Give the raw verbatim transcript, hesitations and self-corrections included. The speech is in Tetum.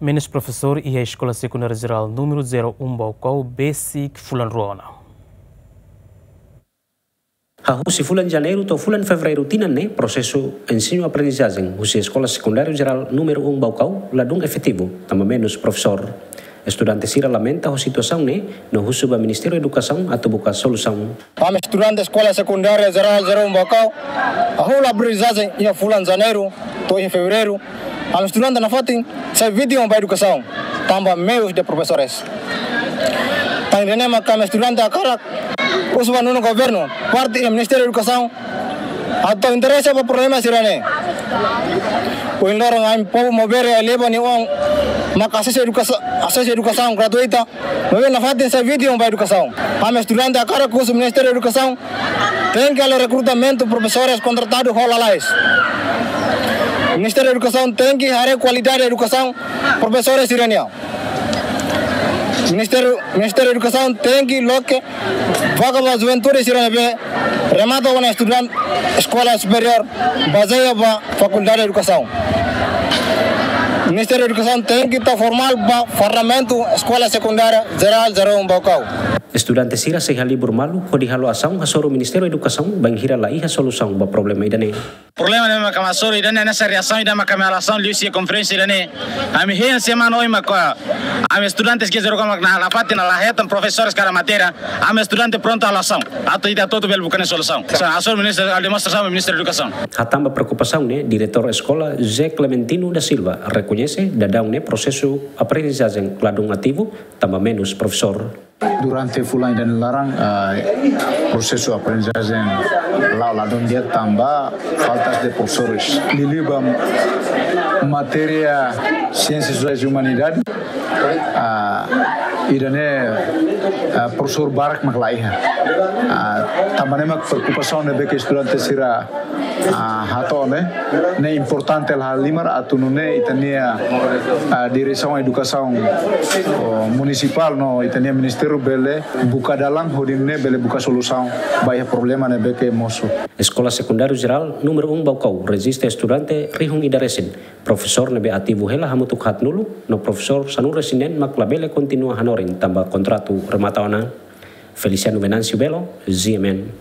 Menus profesór iha Eskola Sekundária Jerál númeru zero um Baucau besik fulan rua ona. Hahú husi fulan Janeiru to'o fulan Fevereiru tinan ne'e, prosesu ensinu-aprendizajen husi Eskola Sekundária Jerál númeru um Baucau ladún efetivu, tanba menus profesór. Estudante sira lamenta ho situasaun ne'e, no husu ba Ministériu Edukasaun atu buka solusaun. Ami estudante Eskola Sekundária Jerál zero um Baucau, hahú la aprendizajen iha fulan Janeiru to'o iha Fevereiru. Ami estudante nafatin sai vítima ba edukasaun, tanba meius de profesores. Tan ida-ne'e mak ami estudante hakarak husu ba nonu governu, parte iha Ministériu Edukasaun, atu interese ba problema sira-ne'e. Ohin loron ami povu Maubere eleva nia oan mak asesu edukasa-, asesu edukasaun gratuita. Maibé nafatin sai vítima ba edukasaun. Ami estudante hakarak husu Ministériu Edukasaun tenke halo rekrutamentu profesores kontratadu ho lalais. Ministériu Edukasaun tenke haree kualidade edukasaun profesores sira-nian. Ministériu, Ministériu Edukasaun tenke loke vaga ba juventude sira ne'ebé remata ona estuda eskola superiór, bazeia ba Fakuldade Edukasaun. Ministériu Edukasaun tenke tau forma ba fardamentu Eskola Sekundária Jerál zero um Baucau. Estudante sira sei halibur malu hodi halo asaun hasoru Ministériu Edukasaun bainhira la iha solusaun ba problema ida-ne'e. Problema ne'ebé mak ami hasoru ida-ne'e, hanesan reasaun ida mak ami halo asaun liuhusi konferénsia ida-ne'e. Ami hein semana oin mak ami estudantes ke zero mak nafatin la hetan profesores kada matéria. Ami estudante prontu halo asaun atu ita hotu-hotu bele buka nia solusaun. Hanesan hasoru Ministériu, halo demonstrasaun ba Ministériu Edukasaun. Hatán ba preokupasaun ne'e, diretór eskola José Clementino da Silva rekoñese daudaun ne'e prosesu aprendizajen ladún ativu, tanba menus profesór. Durante fulan ida-ne'e laran, ah, prosesu aprendizajen la'o ladún di'ak tanba faltas de profesores. Liuliu ba matéria Siénsias Sosiais e Umanidade, ah, ida-ne'e, ah, profesór barak mak la iha. Ah, tanba ne'e mak preokupasaun ne'ebé ke estudante sira, ah, hato'o ne'e, ne'e importante hela halimar atu nune'e ita-nia, ah, diresaun edukasaun, oh, munisipál no ita-nia ministériu bele buka dalan hodi nune'e bele buka solusaun ba iha problema ne'ebé ke mosu. Eskola Sekundáriu Jerál númeru um Baucau rejista estudante rihun ida resin. Profesór ne'ebé ativu hela hamutuk haatnulu, no profesór sanulu resin neen mak labele kontinua hanorin tanba kontratu remata ona. Feliciano Venâncio Belo, G M N.